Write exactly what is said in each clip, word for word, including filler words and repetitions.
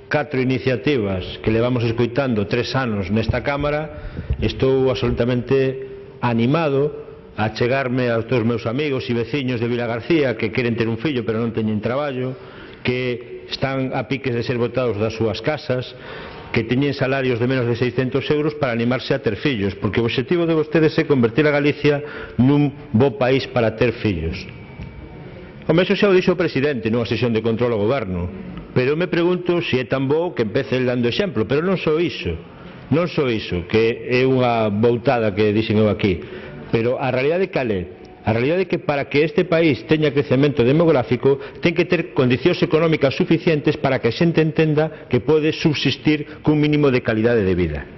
catro iniciativas que levamos escoitando tres anos nesta Cámara, estou absolutamente animado a chegarme aos todos os meus amigos e veciños de Vilagarcía que queren ter un fillo pero non teñen traballo, que están a piques de ser botados das súas casas, que teñen salarios de menos de seiscentos euros para animarse a ter fillos, porque o obxectivo de vostedes é convertir a Galicia nun bo país para ter fillos. Home, iso xa o dixo o presidente nunha sesión de control ao goberno, pero me pregunto se é tan bo que empece el dando exemplo, pero non só iso, non só iso, que é unha boutada que dixen eu aquí. Pero a realidade cal é? A realidade é que para que este país teña crecemento demográfico ten que ter condicións económicas suficientes para que a xente entenda que pode subsistir cun mínimo de calidade de vida.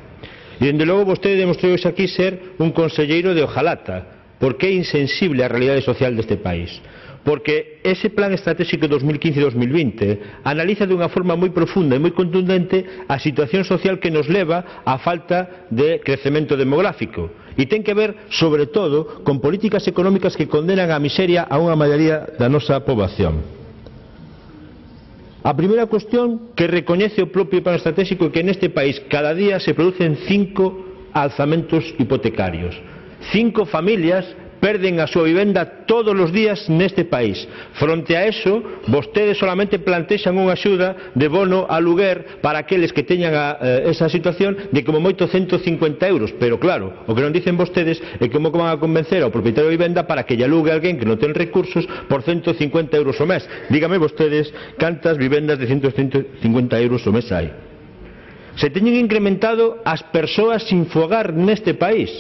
E dende logo vostede demostrou aquí ser un conselleiro de hojalata, porque é insensible á realidade social deste país. Porque ese plan estratégico dos mil quince e dos mil vinte analiza dunha forma moi profunda e moi contundente a situación social que nos leva á falta de crecemento demográfico e ten que ver, sobre todo, con políticas económicas que condenan á miseria a unha maioría da nosa poboación. A primeira cuestión que recoñece o propio plan estratégico é que neste país cada día se producen cinco alzamentos hipotecarios. Cinco familias perden a súa vivenda todos os días neste país. Fronte a eso, vostedes solamente plantexan unha axuda de bono aluguer para aqueles que teñan a, eh, esa situación de como moito ciento cincuenta euros, pero claro, o que non dicen vostedes é como van a convencer ao propietario de vivenda para que lle alugue a alguén que non ten recursos por ciento cincuenta euros o mes. Dígame vostedes cantas vivendas de ciento cincuenta euros o mes hai. Se teñen incrementado as persoas sin fogar neste país.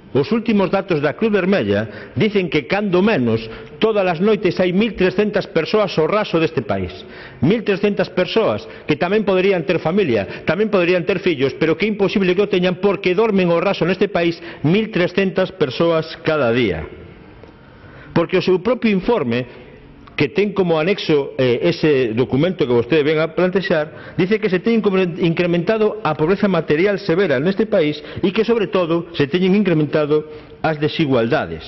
Os últimos datos da Cruz Vermella dicen que, cando menos, todas as noites hai mil trescentas persoas ao raso deste país. mil trescentas persoas que tamén poderían ter familia, tamén poderían ter fillos, pero que é imposible que o teñan porque dormen ao raso neste país mil trescentas persoas cada día. Porque o seu propio informe, que ten como anexo eh, ese documento que vostede ven a plantexar, dice que se ten incrementado a pobreza material severa neste país e que, sobre todo, se teñen incrementado as desigualdades.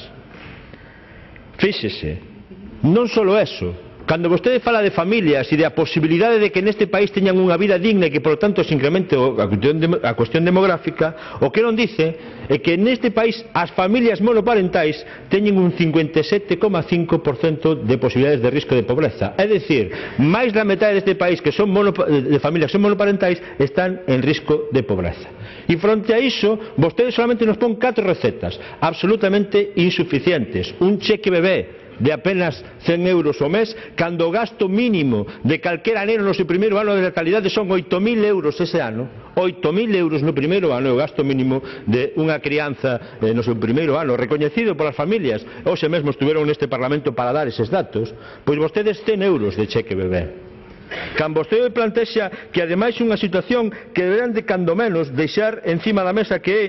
Fíxese, non só eso, cando vostede fala de familias e da posibilidade de que neste país teñan unha vida digna e que, por lo tanto, se incremente a cuestión demográfica, o que non dice é que neste país as familias monoparentais teñen un cincuenta e sete coma cinco por cento de posibilidades de risco de pobreza. É dicir, máis da metade deste país que son de familias que son monoparentais están en risco de pobreza. E fronte a iso, vostedes solamente nos pon catro recetas absolutamente insuficientes. Un cheque bebé de apenas cen euros ao mes, cando o gasto mínimo de calquera neno no seu primeiro ano de natalidade son oito mil euros ese ano. oito mil euros no primeiro ano é o gasto mínimo de unha crianza eh, no seu primeiro ano, recoñecido polas familias. Hoxe mesmo estuveron neste Parlamento para dar eses datos. Pois vostedes cen euros de cheque bebé. Cando vostede plantexa que ademais unha situación que deberán de cando menos deixar encima da mesa, que é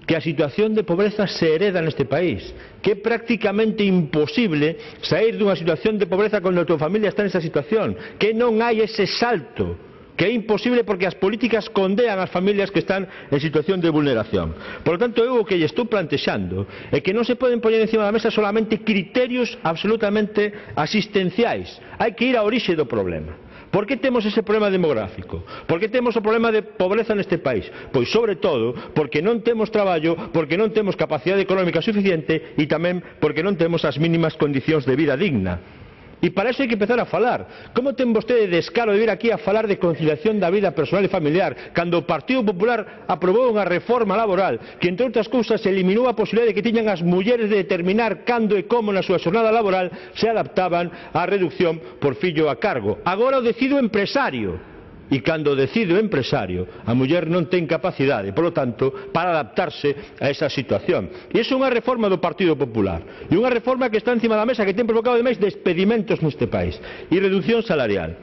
que a situación de pobreza se hereda neste país, que é prácticamente imposible sair dunha situación de pobreza cando a tua familia está nesa situación, que non hai ese salto, que é imposible porque as políticas condean as familias que están en situación de vulneración. Por lo tanto, eu o que lle estou plantexando é que non se poden poñer encima da mesa solamente criterios absolutamente asistenciais. Hai que ir á orixe do problema. Por que temos ese problema demográfico? Por que temos o problema de pobreza neste país? Pois, sobre todo, porque non temos traballo, porque non temos capacidade económica suficiente e tamén porque non temos as mínimas condicións de vida digna. E para iso hai que empezar a falar. Como ten vostede descaro de vir aquí a falar de conciliación da vida personal e familiar cando o Partido Popular aprobou unha reforma laboral que, entre outras cousas, eliminou a posibilidade de que tiñan as mulleres de determinar cando e como na súa xornada laboral se adaptaban á reducción por fillo a cargo? Agora o decide o empresario. E cando decide o empresario, a muller non ten capacidade, por lo tanto, para adaptarse a esa situación. E iso é unha reforma do Partido Popular. E unha reforma que está encima da mesa, que ten provocado ademais despedimentos neste país e reducción salarial.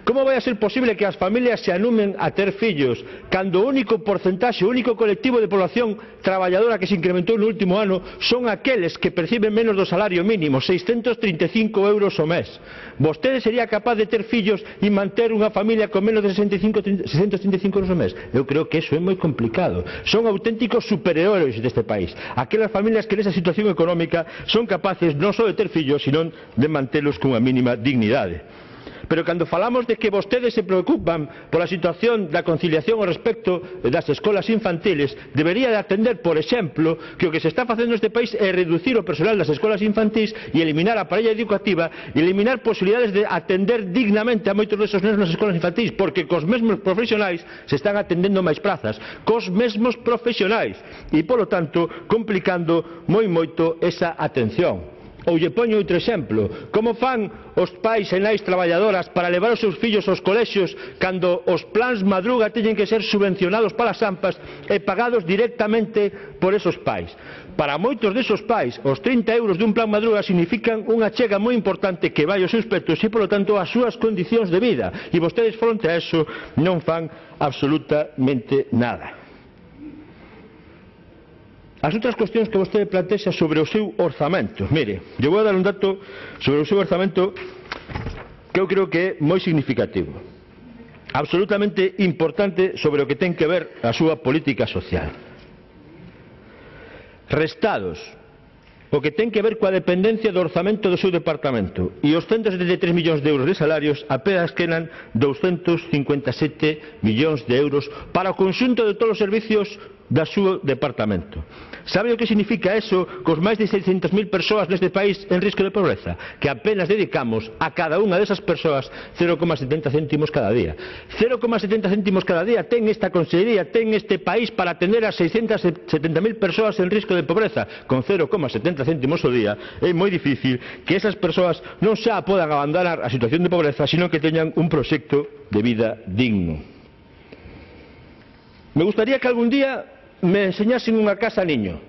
Como vai a ser posible que as familias se anumen a ter fillos cando o único porcentaxe, o único colectivo de población traballadora que se incrementou no último ano son aqueles que perciben menos do salario mínimo, seiscentos trinta e cinco euros ao mes? Vostede sería capaz de ter fillos e manter unha familia con menos de seiscentos trinta e cinco euros ao mes? Eu creo que iso é moi complicado. Son auténticos superhéroes deste país. Aquelas familias que nesa situación económica son capaces non só de ter fillos, sino de mantelos cunha mínima dignidade. pero cando falamos de que vostedes se preocupan pola situación da conciliación ao respecto das escolas infantiles, debería de atender, por exemplo, que o que se está facendo neste país é reducir o personal das escolas infantís e eliminar a parella educativa e eliminar posibilidades de atender dignamente a moitos desos nenos nas escolas infantís, porque cos mesmos profesionais se están atendendo máis prazas, cos mesmos profesionais, e, polo tanto, complicando moi moito esa atención. Ou lle poño outro exemplo, como fan os pais e nais traballadoras para levar os seus fillos aos colexios cando os plans madruga teñen que ser subvencionados para as AMPAs e pagados directamente por esos pais. Para moitos desos pais, os trinta euros dun plan madruga significan unha chega moi importante que vai aos seus petos e, polo tanto, as súas condicións de vida. E vostedes, fronte a eso, non fan absolutamente nada. As outras cuestións que vostede plantexa sobre o seu orzamento. Mire, eu vou dar un dato sobre o seu orzamento que eu creo que é moi significativo, absolutamente importante sobre o que ten que ver a súa política social. Restados o que ten que ver coa dependencia do orzamento do seu departamento e os ciento setenta e tres millóns de euros de salarios, apenas quedan douscentos cincuenta e sete millóns de euros para o conxunto de todos os servicios do seu departamento. Sabe o que significa eso cos máis de seiscentas mil persoas neste país en risco de pobreza? Que apenas dedicamos a cada unha desas persoas cero coma setenta céntimos cada día. cero coma setenta céntimos cada día ten esta consellería, ten este país para atender a seiscentas setenta mil persoas en risco de pobreza. Con cero coma setenta céntimos ao día é moi difícil que esas persoas non xa podan abandonar a situación de pobreza, sino que teñan un proxecto de vida digno. Me gustaría que algún día me enseñasen unha casa niño,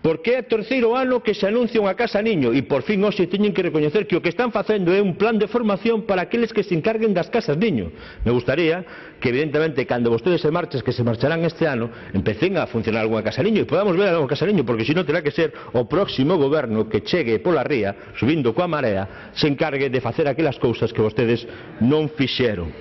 porque é o terceiro ano que se anuncia unha casa niño e por fin hoxe teñen que recoñecer que o que están facendo é un plan de formación para aqueles que se encarguen das casas niño. Me gustaría que, evidentemente, cando vostedes se marchen, que se marcharán este ano, empecen a funcionar algunha casa niño e podamos ver algunha casa niño, porque senón terá que ser o próximo goberno que chegue pola ría, subindo coa marea, se encargue de facer aquelas cousas que vostedes non fixeron.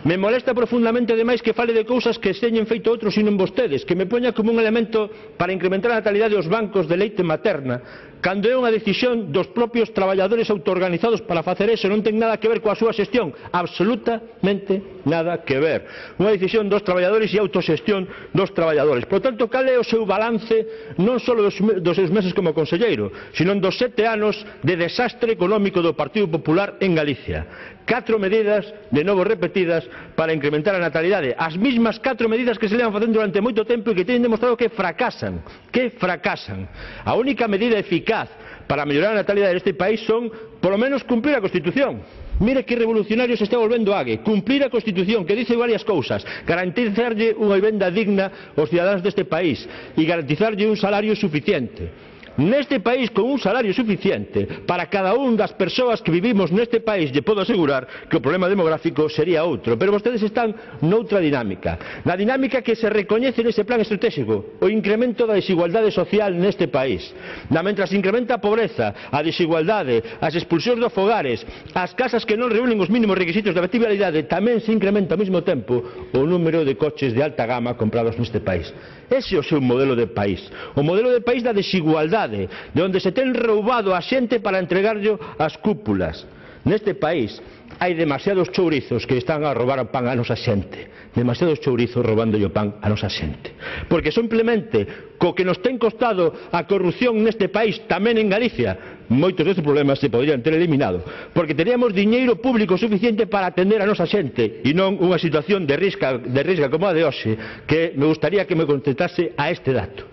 Me molesta profundamente, ademais, que fale de cousas que teñen feito outros e non vostedes, que me poña como un elemento para incrementar a natalidade os bancos de leite materna, cando é unha decisión dos propios traballadores autoorganizados para facer eso, non ten nada que ver coa súa xestión, absolutamente nada que ver. Unha decisión dos traballadores e autoxestión dos traballadores. Por tanto, cal é o seu balance non só dos, dos seus meses como conselleiro, sino dos sete anos de desastre económico do Partido Popular en Galicia? Catro medidas, de novo repetidas, para incrementar a natalidade. As mismas catro medidas que se levan facendo durante moito tempo e que teñen demostrado que fracasan, que fracasan. A única medida eficaz para mellorar a natalidade deste país son, polo menos, cumplir a Constitución. Mire que revolucionario se está volvendo Ague. Cumplir a Constitución, que dice varias cousas. Garantizarlle unha vivenda digna aos cidadáns deste país e garantizarlle un salario suficiente. Neste país, con un salario suficiente para cada un das persoas que vivimos neste país, lle podo asegurar que o problema demográfico sería outro. Pero vostedes están noutra dinámica, na dinámica que se recoñece nese plan estratégico, o incremento da desigualdade social neste país. Na mentras incrementa a pobreza, a desigualdade, as expulsións dos fogares, as casas que non reúnen os mínimos requisitos de habitabilidade, tamén se incrementa ao mesmo tempo o número de coches de alta gama comprados neste país. Ese é o seu modelo de país, o modelo de país da desigualdade, de onde se ten roubado a xente para entregarlle as cúpulas. Neste país hai demasiados chourizos que están a roubar o pan a nosa xente, demasiados chourizos roubándolle o pan a nosa xente, porque simplemente co que nos ten costado a corrupción neste país, tamén en Galicia, moitos destes problemas se poderían ter eliminado, porque teríamos diñeiro público suficiente para atender a nosa xente e non unha situación de risca, de risca como a de hoxe, que me gustaría que me contestase a este dato.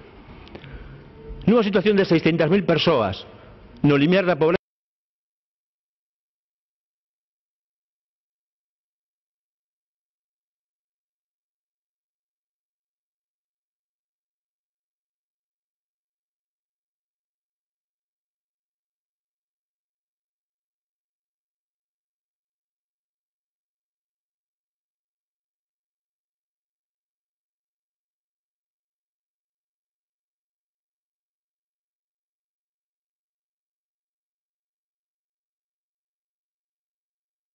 Nunha situación de seiscentas mil persoas no limiar da pobreza